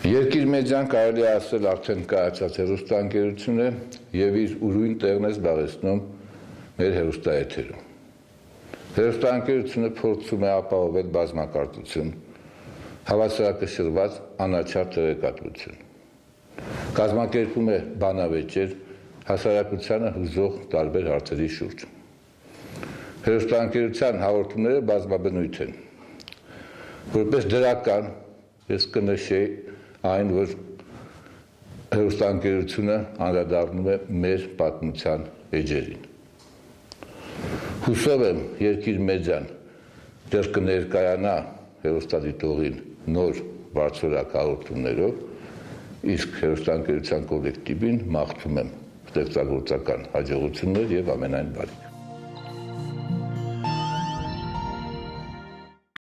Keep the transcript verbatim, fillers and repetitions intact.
Երկիր մեդիան կարելի է ասել արդեն կայացած հեռուստաընկերություն է եւ իր ուրույն տեղն է զբաղեցնում մեր հեռուստաեթերում։ Հեռուստաընկերությունը փորձում է ապահովել բազմակարծություն, հավասարակշռված անաչառ տեղեկատվություն։ Կազմակերպում է բանավեճեր հասարակությանը հուզող տարբեր հարցերի շուրջ։ Հեռուստաընկերության հաղորդումները բազմաբնույթ են։ Որպես դրական ես կնշեի այն, որ հեռուստաընկերությունը անդրադառնում է մեր պատմության էջերին։ Հուսով եմ, Երկիր մեդիան դեռ կներկայանա հեռուստադիտողին նոր բարձրորակ հաղորդումներով, իսկ հեռուստաընկերության կոլեկտիվին մաղթում եմ ստեղծագործական հաջողություններ եւ ամենայն բարիք։